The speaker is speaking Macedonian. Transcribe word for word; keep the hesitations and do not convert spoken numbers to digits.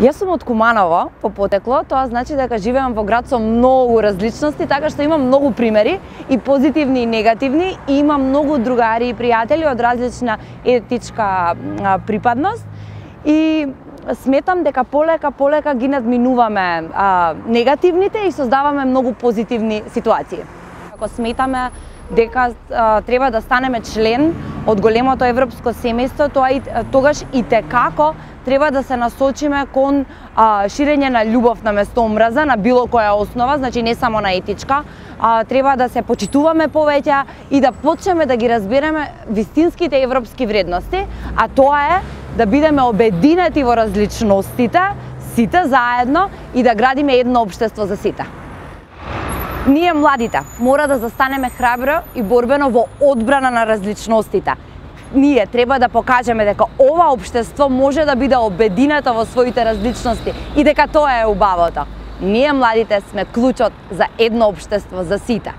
Јас сум од Куманово по потекло, тоа значи дека живеам во град со многу различности, така што имам многу примери и позитивни и негативни, и имам многу другари и пријатели од различна етничка припадност и сметам дека полека полека ги надминуваме а, негативните и создаваме многу позитивни ситуации. Ако сметаме дека а, треба да станеме член од големото европско семејство, тоа и тогаш и текако треба да се насочиме кон а, ширење на љубов на место омраза на било која основа, значи не само на етичка, а, треба да се почитуваме повеќе и да почнеме да ги разбереме вистинските европски вредности, а тоа е да бидеме обединети во различностите, сите заедно, и да градиме едно општество за сите. Ние младите мора да застанеме храбро и борбено во одбрана на различностите. Ние треба да покажеме дека ова општество може да биде обединето во своите различности и дека тоа е убавото. Ние младите сме клучот за едно општество за сите.